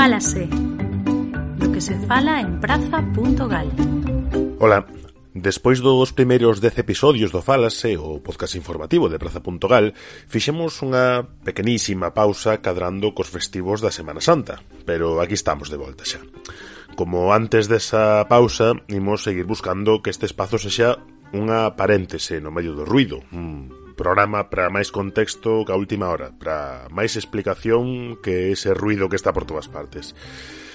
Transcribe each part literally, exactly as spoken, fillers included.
Fálase, lo que se fala en praza punto gal. Ola, despois dos primeiros dez episodios do Fálase, o podcast informativo de praza punto gal, fixemos unha pequenísima pausa cadrando cos festivos da Semana Santa, pero aquí estamos de volta xa. Como antes desa pausa, imos seguir buscando que este espazo sexa unha paréntese no medio do ruido, un programa para máis contexto que a última hora, para máis explicación que ese ruido que está por todas partes.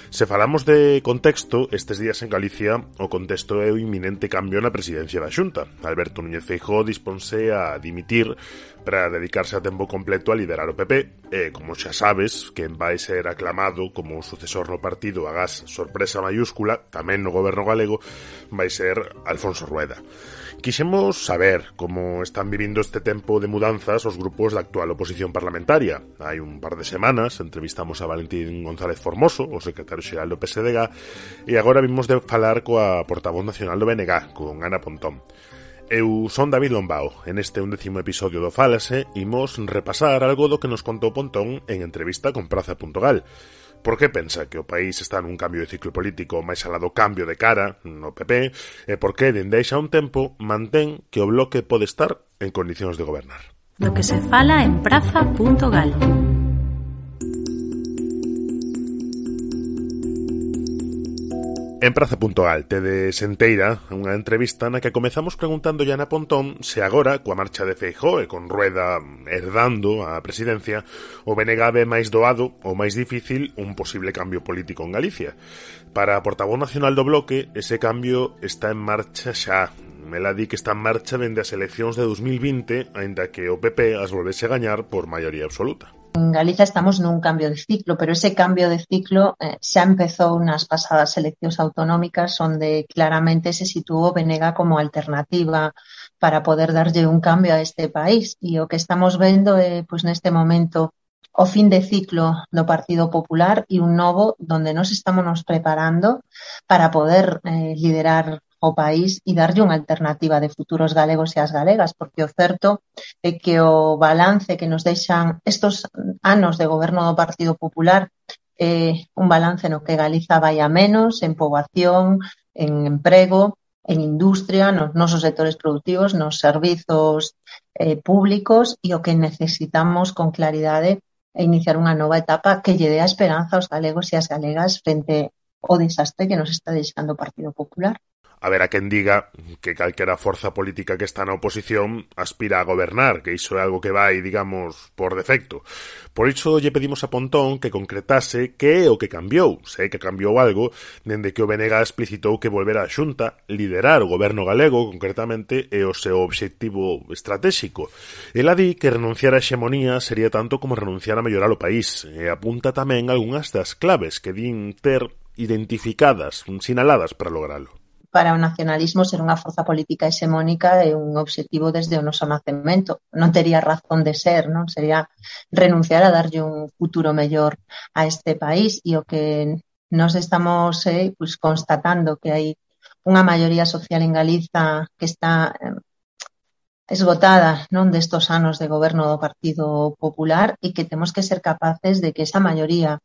Se falamos de contexto, estes días en Galicia o contexto é o inminente cambio na presidencia da Xunta. Alberto Núñez Feijóo disponse a dimitir para dedicarse a tempo completo a liderar o P P e, como xa sabes, quen vai ser aclamado como o sucesor no partido agás sorpresa mayúscula, tamén no goberno galego, vai ser Alfonso Rueda. Quixemos saber como están vivindo este tempo de mudanzas os grupos da actual oposición parlamentaria. Hai un par de semanas entrevistamos a Valentín González Formoso, o secretario xeral do P S D G, e agora vimos de falar coa portavoz nacional do B N G, con Ana Pontón. Eu son David Lombao. En este undécimo episodio do Fálase imos repasar algo do que nos contou Pontón en entrevista con praza punto gal. Por que pensa que o país está nun cambio de ciclo político máis alá do cambio de cara no P P e por que dende hai xa un tempo mantén que o bloque pode estar en condicións de gobernar. Lo que se fala en praza punto gal. En praza punto gal tedes enteira unha entrevista na que comezamos preguntando a Ana Pontón se agora, coa marcha de Feijóo e con Rueda herdando a presidencia, o B N G ve máis doado ou máis difícil un posible cambio político en Galicia. Para a portavoz nacional do bloque, ese cambio está en marcha xa. Ela di que está en marcha dende as eleccións de dos mil vinte, aínda que o P P as volvese a gañar por maioría absoluta. En Galicia estamos nun cambio de ciclo, pero ese cambio de ciclo eh, xa empezou nas pasadas eleccións autonómicas, onde claramente se situou o B N G como alternativa para poder darlle un cambio a este país. E o que estamos vendo é, pois, neste momento, o fin de ciclo do Partido Popular e un novo donde nos estamos nos preparando para poder eh, liderar o país e darlle unha alternativa de futuros galegos e as galegas, porque o certo é que o balance que nos deixan estos anos de goberno do Partido Popular é un balance no que Galiza vai a menos en poboación, en emprego, en industria, nos nosos sectores productivos, nos servizos eh, públicos, e o que necesitamos con claridade é iniciar unha nova etapa que lle dé a esperanza aos galegos e as galegas frente ao desastre que nos está deixando o Partido Popular. Haberá quen diga que calquera forza política que está na oposición aspira a gobernar, que iso é algo que vai, digamos, por defecto. Por iso lle pedimos a Pontón que concretase que é o que cambiou, se é que cambiou algo, dende que o B N G explicitou que volver á Xunta, liderar o goberno galego, concretamente, é o seu obxectivo estratégico. Ela di que renunciar á hexemonía sería tanto como renunciar a mellorar o país, e apunta tamén algunhas das claves que din ter identificadas, sinaladas para logralo. Para o nacionalismo ser unha forza política hexemónica é un obxectivo desde o noso nacemento. Non tería razón de ser, non? Sería renunciar a darlle un futuro mellor a este país, e o que nos estamos eh, pues, constatando que hai unha maioría social en Galiza que está eh, esgotada, non, destos anos de goberno do Partido Popular, e que temos que ser capaces de que esa maioría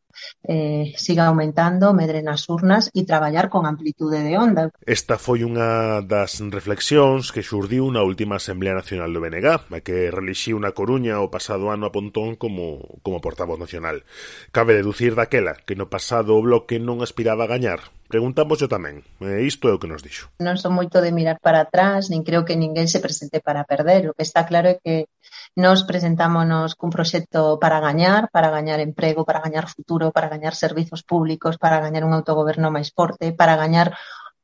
eh, siga aumentando, medre nas urnas e traballar con amplitude de onda. Esta foi unha das reflexións que xurdiu na última Asamblea Nacional do B N G, a que relixiu na Coruña o pasado ano a Pontón como, como portavoz nacional. Cabe deducir daquela que no pasado o bloque non aspiraba a gañar. Preguntamos yo tamén, e isto é o que nos dixo. Non son moito de mirar para atrás, nin creo que ninguén se presente para perder. O que está claro é que nos presentámonos cun proxecto para gañar, para gañar emprego, para gañar futuro, para gañar servizos públicos, para gañar un autogoberno máis forte, para gañar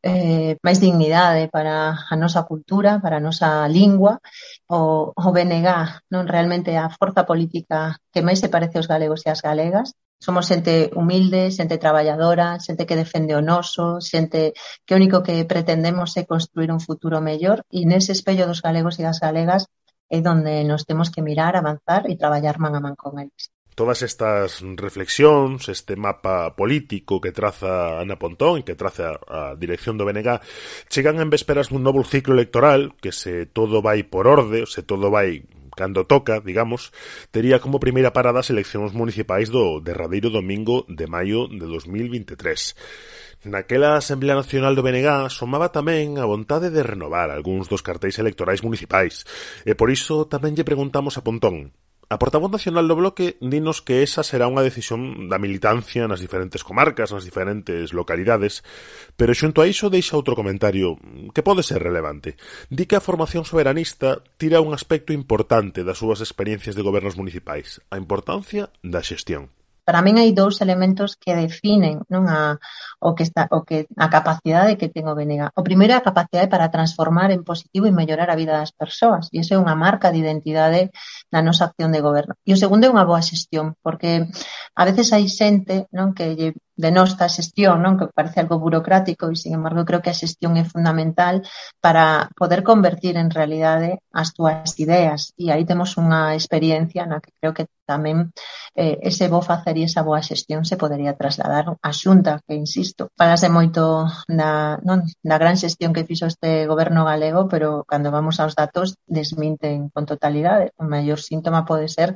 eh, máis dignidade para a nosa cultura, para a nosa lingua. O, o B N G non realmente é a forza política que máis se parece aos galegos e as galegas. Somos xente humilde, xente traballadora, xente que defende o noso, xente que o único que pretendemos é construir un futuro mellor, e nese espello dos galegos e das galegas é onde nos temos que mirar, avanzar e traballar man a man con eles. Todas estas reflexións, este mapa político que traza Ana Pontón e que traza a dirección do B N G, chegan en vésperas dun novo ciclo electoral que, se todo vai por orde, se todo vai cando toca, digamos, tería como primeira parada as eleccións municipais do derradeiro domingo de maio de dos mil vinte e tres. Naquela Asamblea Nacional do B N G somaba tamén a vontade de renovar algúns dos cartéis electorais municipais, e por iso tamén lle preguntamos a Pontón. A portavoz nacional do Bloque dinos que esa será unha decisión da militancia nas diferentes comarcas, nas diferentes localidades, pero xunto a iso deixa outro comentario que pode ser relevante. Di que a formación soberanista tira un aspecto importante das súas experiencias de gobernos municipais, a importancia da xestión. Para min hai dous elementos que definen, non, a, o que está, o que, a capacidade que ten o B N G. O primeiro é a capacidade para transformar en positivo e mellorar a vida das persoas, e iso é unha marca de identidade na nosa acción de goberno. E o segundo é unha boa xestión, porque a veces hai xente, non, que lle denosta a xestión, non, que parece algo burocrático, e sin embargo creo que a xestión é fundamental para poder convertir en realidade as túas ideas, e aí temos unha experiencia na que creo que tamén eh, ese bo facer e esa boa xestión se podería trasladar á Xunta, que insisto, falase moito da, non, da gran xestión que fixo este goberno galego, pero cando vamos aos datos desminten con totalidade. O maior síntoma pode ser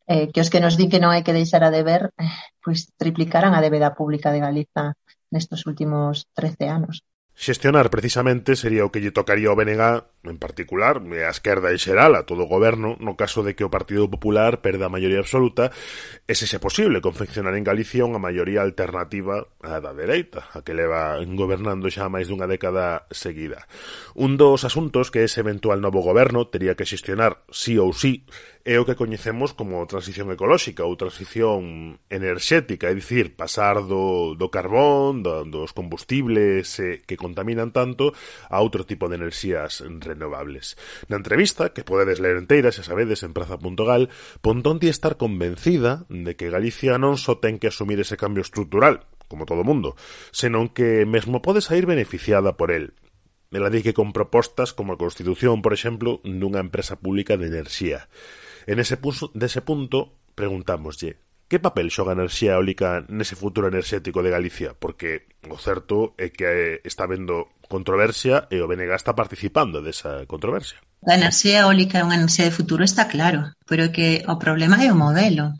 eh, que os que nos din que non hai que deixar a deber, eh, pois triplicaran a débeda pública de Galiza nestos últimos trece anos. Xestionar, precisamente, sería o que lle tocaría ao B N G, en particular, e a esquerda en xeral, a todo o goberno, no caso de que o Partido Popular perda a maioría absoluta, e se xe posible confeccionar en Galicia unha maioría alternativa á da dereita, a que leva gobernando xa máis dunha década seguida. Un dos asuntos que ese eventual novo goberno tería que xestionar sí ou sí é o que coñecemos como transición ecolóxica ou transición enerxética, é dicir, pasar do, do carbón, do, dos combustibles eh, que contaminan tanto a outro tipo de enerxías renovables. Na entrevista, que podedes ler enteira, xa sabedes, en praza punto gal, Pontón di estar convencida de que Galicia non só ten que asumir ese cambio estrutural, como todo mundo, senón que mesmo pode sair beneficiada por el. Ela di que con propostas como a constitución, por exemplo, dunha empresa pública de enerxía. En ese punto, dese punto, preguntámoslle, que papel xoga a enerxía eólica nese futuro enerxético de Galicia? Porque o certo é que está habendo controversia e o B N G está participando desa controversia. A enerxía eólica é unha enerxía de futuro, está claro, pero que o problema é o modelo.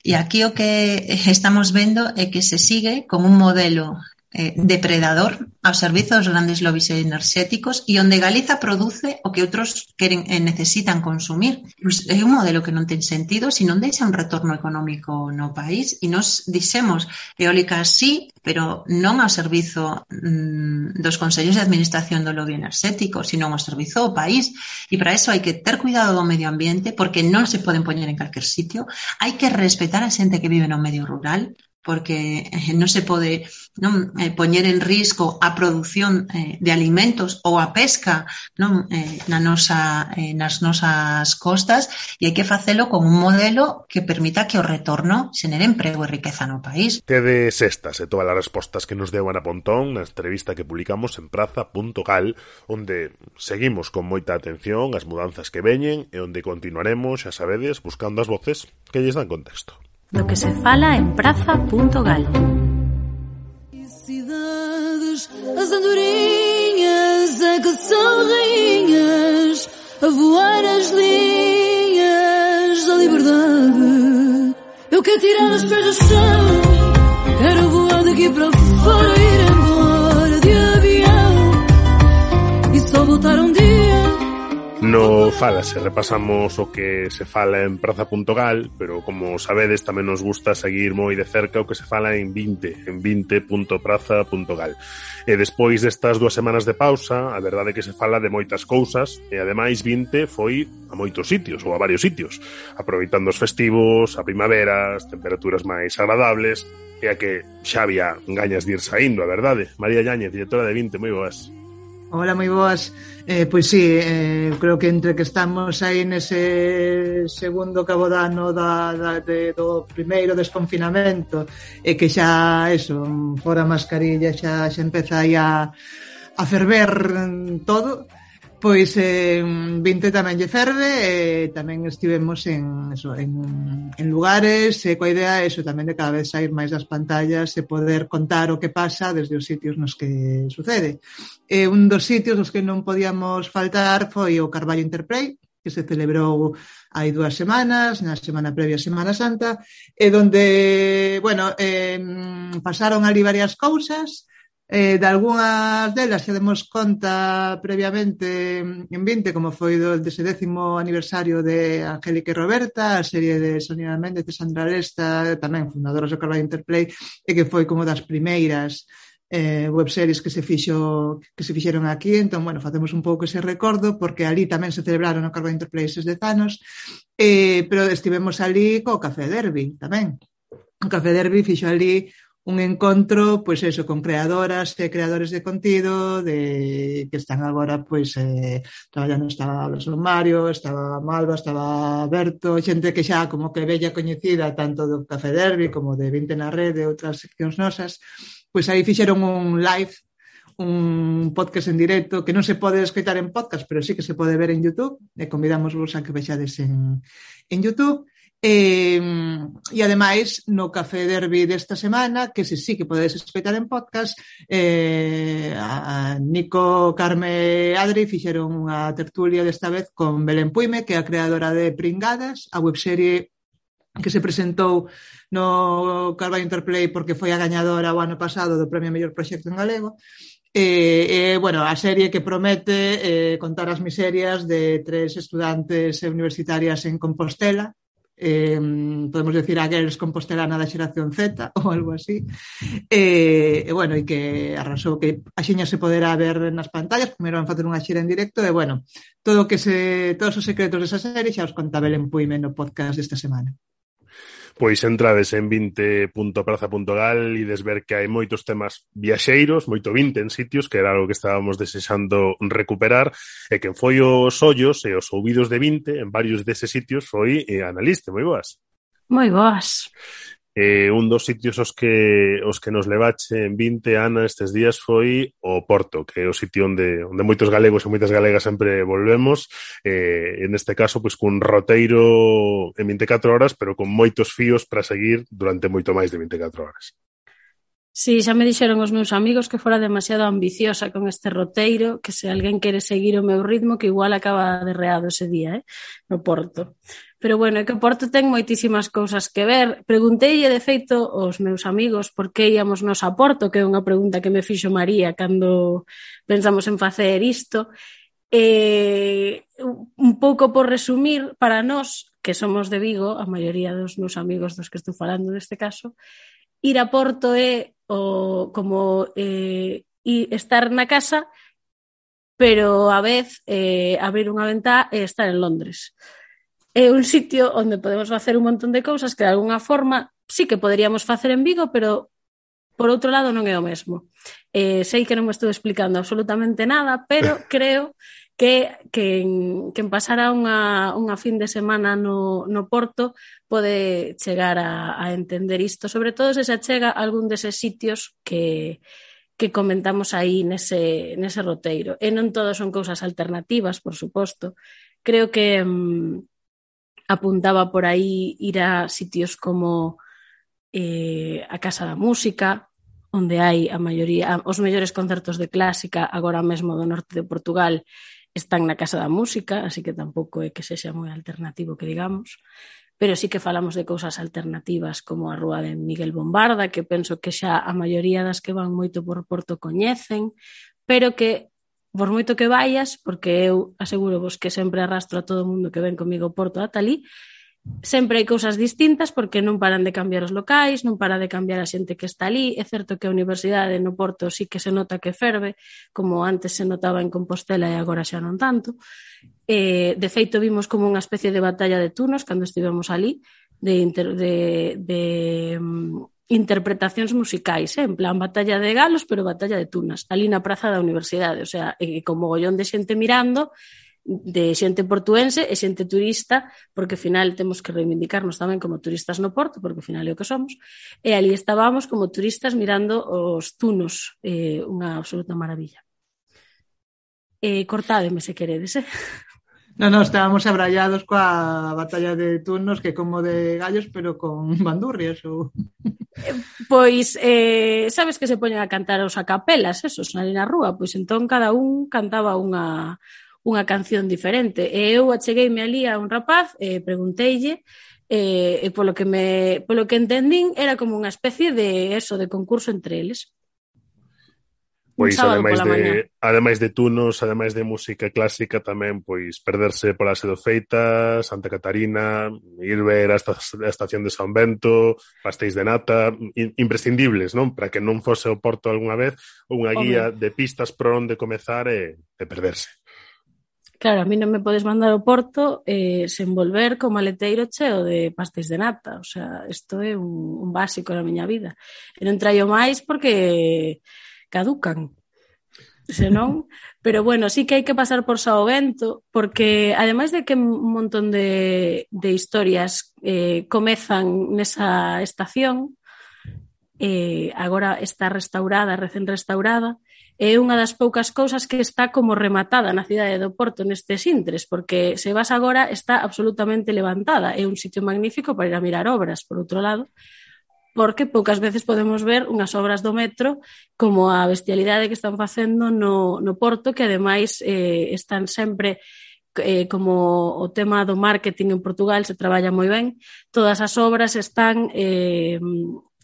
E aquí o que estamos vendo é que se sigue con un modelo eh, depredador ao servizo dos grandes lobbies enerxéticos e onde Galiza produce o que outros queren e necesitan consumir. Pues é un modelo que non ten sentido se non deixa un retorno económico no país, e nos dixemos eólica sí, pero non ao servizo mm, dos consellos de administración do lobby enerxético, sino ao servizo do país. E para eso hai que ter cuidado do medio ambiente, porque non se poden poñer en calquer sitio. Hai que respetar a xente que vive no medio rural, porque eh, non se pode non eh, poñer en risco a produción eh, de alimentos ou a pesca non eh, na nosa, eh, nas nosas costas, e hai que facelo con un modelo que permita que o retorno xenere emprego e riqueza no país. Tedes estas e todas as respostas que nos deu Ana Pontón na entrevista que publicamos en praza punto gal, onde seguimos con moita atención as mudanzas que veñen e onde continuaremos, xa sabedes, buscando as voces que lles dan contexto. Lo que se fala en praza punto gal. Cidades, as andorinhas é que são rainhas, a voar as linhas da liberdade. Eu quero tirar os pés do chão, quero voar daqui para fora, ir embora de avião e só voltar um dia. No Falase repasamos o que se fala en praza punto gal, pero como sabedes tamén nos gusta seguir moi de cerca o que se fala en vinte, en vinte punto praza punto gal. E despois destas dúas semanas de pausa, a verdade é que se fala de moitas cousas, e ademais vinte foi a moitos sitios, ou a varios sitios, aproveitando os festivos, a primavera, as temperaturas máis agradables, e a que xa había gañas de ir saindo, a verdade. María Yáñez, directora de vinte, moi boas. Hola, moi boas. Eh, pois sí, eh, creo que entre que estamos aí nese segundo cabodano da, da, de, do primeiro desconfinamento e que xa, eso, fora mascarilla xa, xa empeza aí a, a ferver todo, pois eh, vinte tamén lle ferve e tamén estivemos en, eso, en, en lugares e coa idea eso, tamén de cada vez sair máis das pantallas e poder contar o que pasa desde os sitios nos que sucede. E un dos sitios nos que non podíamos faltar foi o Carballo Interplay, que se celebrou hai dúas semanas, na semana previa a Semana Santa, e donde, bueno, eh, pasaron ali varias cousas. Eh, de algunhas delas xa demos conta previamente en vinte, como foi do dese décimo aniversario de Angélica e Roberta, a serie de Sonia Méndez e Sandra Aresta, tamén fundadoras do Carballo Interplay, e que foi como das primeiras eh, webseries que se fixo que se fixeron aquí. Entón, bueno, facemos un pouco ese recordo, porque ali tamén se celebraron o Carballo Interplay eses dez anos, eh, pero estivemos ali co Café Derby tamén. O Café Derby fixo ali un encontro, pois pues eso, con creadoras e creadores de contido de que están agora pois pues, eh, traballando. Estaba Mario, estaba Malva, estaba Berto, xente que xa como que bella coñecida tanto do Café Derby como de vinte na Rede e outras seccións nosas. Pois pues aí fixeron un live, un podcast en directo que non se pode escoitar en podcast, pero sí que se pode ver en YouTube, e convidamos vos a que vexades en, en YouTube. E, e ademais no Café Derby desta semana, que se sí que podedes escoitar en podcast, eh, a Nico, Carme e Adri fixeron unha tertulia desta vez con Belén Puime, que é a creadora de Pringadas, a webserie que se presentou no Carballo Interplay porque foi a gañadora o ano pasado do Premio Mellor Proxecto en Galego. E, eh, bueno, a serie que promete eh, contar as miserias de tres estudantes universitarias en Compostela. Eh, podemos decir a Girls Compostelana da xeración Z ou algo así, e, e bueno, e que arrasou, que axiña se poderá ver nas pantallas. Primeiro van facer unha xira en directo, e bueno, todo que se, todos os secretos desa serie xa os conta Belén Puime no podcast desta semana. Pois entrades en vinte punto praza punto gal e des ver que hai moitos temas viaxeiros, moito vinte en sitios, que era algo que estábamos desexando recuperar, e quen foi os ollos e os ouvidos de vinte en varios deses sitios foi eh, Analiste. Moi boas. Moi boas. Eh, un dos sitios os que os que nos levache en vinte, Ana, estes días foi o Porto, que é o sitio onde, onde moitos galegos e moitas galegas sempre volvemos, eh, en este caso, pois, cun roteiro en vinte e catro horas, pero con moitos fíos para seguir durante moito máis de vinte e catro horas. Sí, xa me dixeron os meus amigos que fora demasiado ambiciosa con este roteiro, que se alguén quere seguir o meu ritmo, que igual acaba derreado ese día, eh, no Porto. Pero bueno, é que o Porto ten moitísimas cousas que ver. Pregunteille, de feito, aos meus amigos por que íamos nos a Porto, que é unha pregunta que me fixo María cando pensamos en facer isto. Eh, un pouco por resumir, para nós, que somos de Vigo, a maioría dos meus amigos dos que estou falando neste caso, ir a Porto é o, como eh, estar na casa, pero a vez eh, abrir unha ventá e estar en Londres. É un sitio onde podemos facer un montón de cousas que de alguna forma sí que poderíamos facer en Vigo, pero por outro lado non é o mesmo. Eh, sei que non me estou explicando absolutamente nada, pero creo que quen, quen pasara unha, unha fin de semana no, no Porto pode chegar a, a entender isto, sobre todo se se achega a algún deses sitios que, que comentamos aí nese, nese roteiro. E non todos son cousas alternativas, por suposto. Creo que mmm, apuntaba por aí ir a sitios como eh, a Casa da Música, onde hai a maioría, os mellores concertos de clásica agora mesmo do norte de Portugal están na Casa da Música, así que tampouco é que sexa moi alternativo que digamos, pero sí que falamos de cousas alternativas como a Rúa de Miguel Bombarda, que penso que xa a maioría das que van moito por Porto coñecen, pero que por moito que vayas, porque eu aseguro vos que sempre arrastro a todo o mundo que ven comigo Porto ata ali, sempre hai cousas distintas porque non paran de cambiar os locais, non para de cambiar a xente que está ali. É certo que a universidade no Porto sí que se nota que ferve, como antes se notaba en Compostela e agora xa non tanto. Eh, de feito, vimos como unha especie de batalla de turnos cando estivemos ali, de, inter, de, de um, interpretacións musicais, eh? En plan batalla de galos, pero batalla de tunas, ali na praza da universidade, o sea, e con mogollón de xente mirando, de xente portuense e xente turista, porque ao final temos que reivindicarnos tamén como turistas no Porto, porque ao final é o que somos, e ali estábamos como turistas mirando os tunos, eh, unha absoluta maravilla. Eh, cortádeme se queredes, eh? No, no, estábamos abrallados coa batalla de turnos, que como de gallos, pero con bandurrias ou... Pois, eh, sabes que se poñen a cantar os acapelas, esos, ali na rúa, pois entón cada un cantaba unha, unha canción diferente. E eu achegueime ali a un rapaz e pregunteille e, e polo que me polo que entendín era como unha especie de eso, de concurso entre eles. Pois ademais de, ademais de tunos, ademais de música clásica tamén, pois perderse pola Sedo Feita, Santa Catarina, ir ver a, esta, a estación de San Bento, pastéis de nata, imprescindibles, non? Para que non fose o Porto algunha vez unha guía Home. de pistas por onde comezar e, e perderse. Claro, a mí non me podes mandar ao Porto eh, sen volver co maleteiro cheo de pastéis de nata, o sea, isto é un, un básico na miña vida. E non traio máis porque caducan, senón, pero bueno, sí que hai que pasar por Sao Bento, porque ademais de que un montón de, de historias eh, comezan nesa estación, eh, agora está restaurada, recén restaurada, é unha das poucas cousas que está como rematada na cidade do Porto nestes intres, porque se vas agora está absolutamente levantada, é un sitio magnífico para ir a mirar obras, por outro lado, porque poucas veces podemos ver unhas obras do metro como a bestialidade que están facendo no, no Porto, que ademais eh, están sempre, eh, como o tema do marketing en Portugal se traballa moi ben, todas as obras están eh,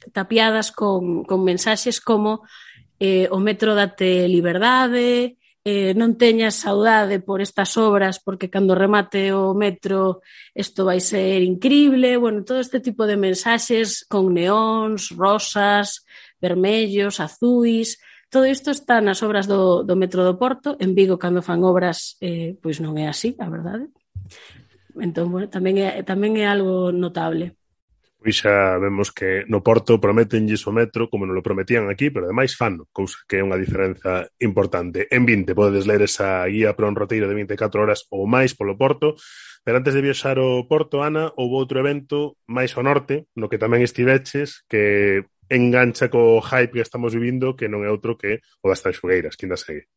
tapiadas con, con mensaxes como eh, o metro date liberdade, eh, non teñas saudade por estas obras porque cando remate o metro isto vai ser increíble, bueno, todo este tipo de mensaxes con neóns, rosas, vermellos, azuis, todo isto está nas obras do, do metro do Porto. En Vigo, cando fan obras, eh, pois non é así, a verdade. Entón, bueno, tamén é, tamén é algo notable. Pois xa vemos que no Porto prometenlles o metro como non lo prometían aquí, pero ademais fano, cousa que é unha diferenza importante. En vinte podedes ler esa guía para un roteiro de vinte e catro horas ou máis polo Porto, pero antes de viaxar ao Porto, Ana, houve outro evento máis ao norte, no que tamén estiveches, que engancha co hype que estamos vivindo, que non é outro que o das Tanxugueiras, que ainda segue.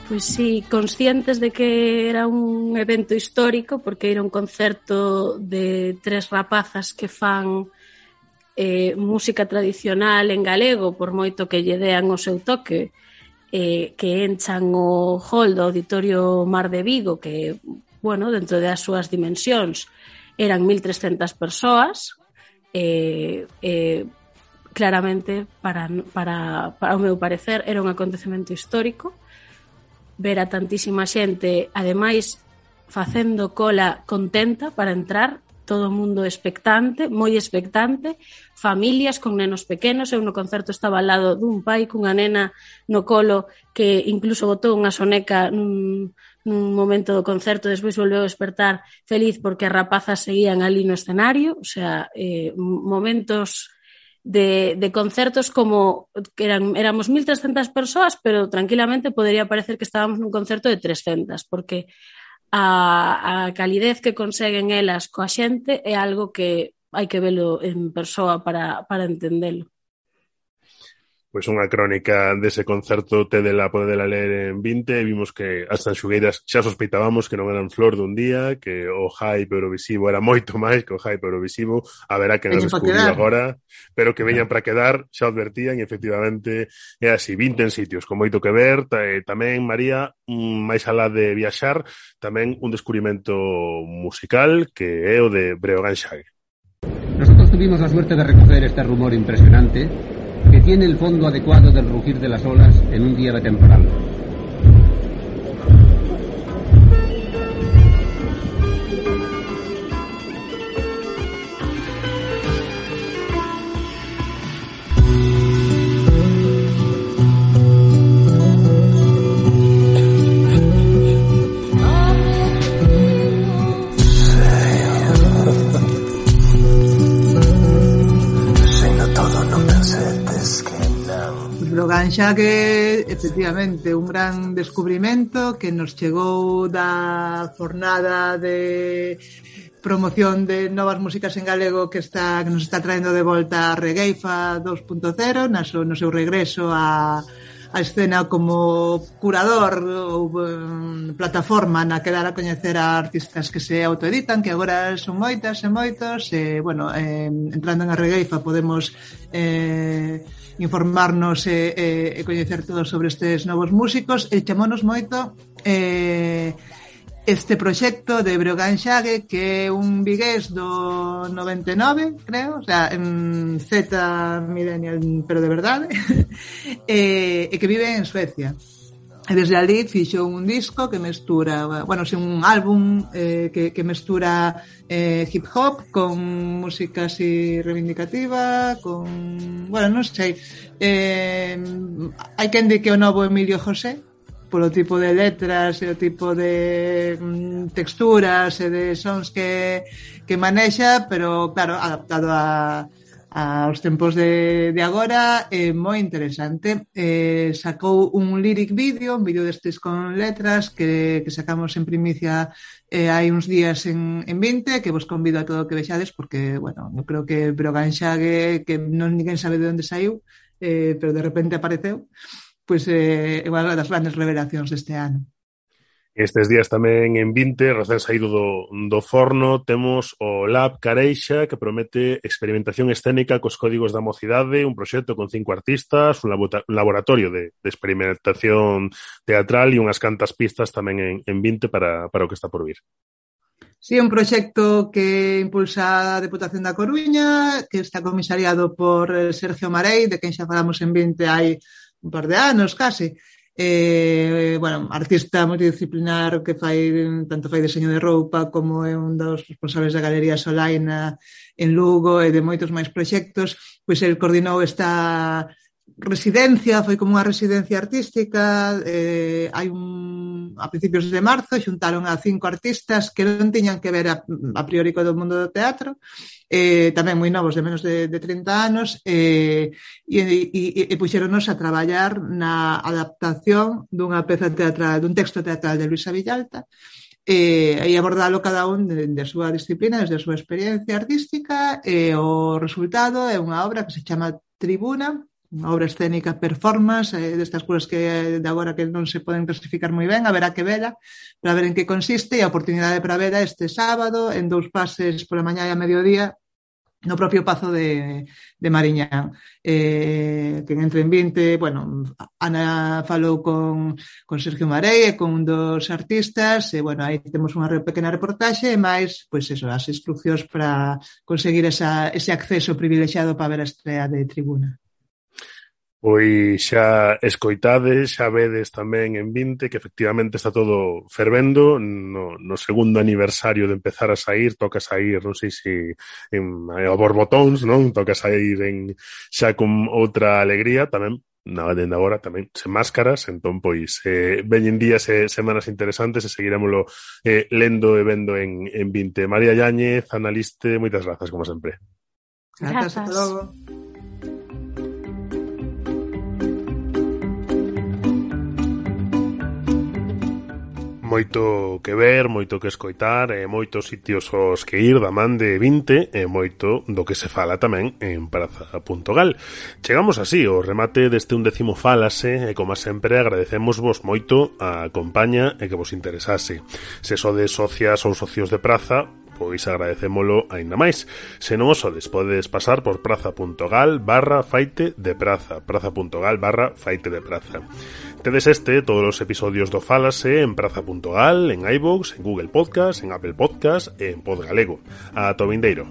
Pois sí, conscientes de que era un evento histórico, porque era un concerto de tres rapazas que fan eh, música tradicional en galego, por moito que lle dean o seu toque, eh, que enchan o hall do Auditorio Mar de Vigo, que, bueno, dentro das súas dimensións, eran mil trescentas persoas, eh, eh, claramente, para, para, para o meu parecer, era un acontecemento histórico, ver a tantísima xente, ademais, facendo cola contenta para entrar, todo o mundo expectante, moi expectante, familias con nenos pequenos. Eu no concerto estaba ao lado dun pai cunha nena no colo que incluso botou unha soneca nun, nun momento do concerto, despois volveu a despertar feliz porque as rapazas seguían ali no escenario, o sea, eh, momentos De, de concertos como que eran, éramos mil trescentas persoas, pero tranquilamente podería parecer que estábamos nun concerto de trescentas, porque a, a calidez que conseguen elas coa xente é algo que hai que velo en persoa para, para entendelo. Pois unha crónica dese concerto tedela, podela ler en vinte, e vimos que as Tanxugueiras xa sospeitábamos que non eran flor dun día, que o hype eurovisivo era moito máis que o hype eurovisivo, haberá que nos descubriu agora, pero que veñan para quedar, xa advertían, e efectivamente é así, vinte en sitios con moito que ver, tamén, María, máis alá de viaxar, tamén un descubrimento musical que é o de Breogán Xague. Nosotros tuvimos la suerte de recoger este rumor impresionante que tiene el fondo adecuado del rugir de las olas en un día de temporal. Breogán Xague, efectivamente, un gran descubrimento que nos chegou da jornada de promoción de novas músicas en galego que está que nos está traendo de volta a Regueifa dos punto cero no seu, no seu regreso a, a escena como curador ou um, plataforma na que dar a coñecer a artistas que se autoeditan, que agora son moitas e moitos, e, bueno, eh, entrando en a regueifa podemos eh, informarnos e, e, e coñecer todo sobre estes novos músicos, e chamounos moito eh, este proxecto de Breogán Xague, que é un vigués do noventa e nove, creo, o sea, en Z millennial, pero de verdade, e, e que vive en Suecia. E desde ali fixo un disco que mestura, bueno, un álbum eh, que, que mestura eh, hip hop con música así reivindicativa, con, bueno, non sei, eh, hai quen di que o novo Emilio José, polo tipo de letras e o tipo de mm, texturas e de sons que, que manexa, pero claro, adaptado a, a os tempos de, de agora, é moi interesante. Eh, sacou un lyric video, un vídeo destes con letras que, que sacamos en primicia eh, hai uns días en, en vinte, que vos convido a todo que vexades, porque, bueno, eu creo que Breogán Xague, que non ninguén sabe de onde saiu, eh, pero de repente apareceu, pois é eh, unha das grandes revelacións deste ano. Estes días tamén en vinte, recén saído do, do forno, temos o Lab Careixa, que promete experimentación escénica cos códigos da mocidade, un proxecto con cinco artistas, un, labo- un laboratorio de, de experimentación teatral e unhas cantas pistas tamén en, en vinte para, para o que está por vir. Sí, un proxecto que impulsa a Deputación da Coruña, que está comisariado por Sergio Marei, de quen xa falamos en vinte hai un par de anos, case. Eh, bueno, artista multidisciplinar que fai, tanto fai diseño de roupa como é un dos responsables da Galería Solaina en Lugo e de moitos máis proxectos, pois el coordinou esta residencia, foi como unha residencia artística, eh, hai un, a principios de marzo xuntaron a cinco artistas que non tiñan que ver a, a priori co do mundo do teatro, eh, tamén moi novos, de menos de, de trinta anos, eh, e, e, e puxeronos a traballar na adaptación dunha peza teatral, dun texto teatral de Luisa Villalta, e, e abordalo cada un de, de a súa disciplina, desde a súa experiencia artística, e o resultado é unha obra que se chama Tribuna, unha obra escénica performance, eh, destas cousas que de agora que non se poden clasificar moi ben, haberá que vela para ver en que consiste, e a oportunidade para vela este sábado en dous pases pola mañá e a mediodía no propio Pazo de, de Mariñán. Eh, que entre en vinte, bueno, Ana falou con, con Sergio Marei e con un dos artistas, e bueno, aí temos unha pequena reportaxe e máis, pois eso, as instruccións para conseguir esa, ese acceso privilexiado para ver a estrea de Tribuna. Pois xa escoitades, xa vedes tamén en vinte que efectivamente está todo fervendo no, no segundo aniversario de empezar a sair, toca sair, non sei se en, a borbotóns, non? Toca sair en, xa con outra alegría, tamén na dende agora tamén sen máscaras, entón pois eh, veñen días e semanas interesantes e seguiremoslo eh, lendo e vendo en, en vinte. María Yáñez, analiste, moitas grazas como sempre. Grazas, hasta logo. Moito que ver, moito que escoitar, e moitos sitios aos que ir da man de vinte, e moito do que se fala tamén en praza punto gal. Chegamos así ao remate deste undécimo Fálase, e como sempre agradecemosvos moito a compaña e que vos interesase. Se sodes socias ou socios de praza, pois agradecémolo aínda máis. Se non o sodes, podes pasar por praza.gal barra faite de praza, praza.gal barra faite de praza. Tedes este, todos os episodios do Fálase en praza.gal, en iVoox, en Google Podcast, en Apple Podcast e en Podgalego. Ata o vindeiro.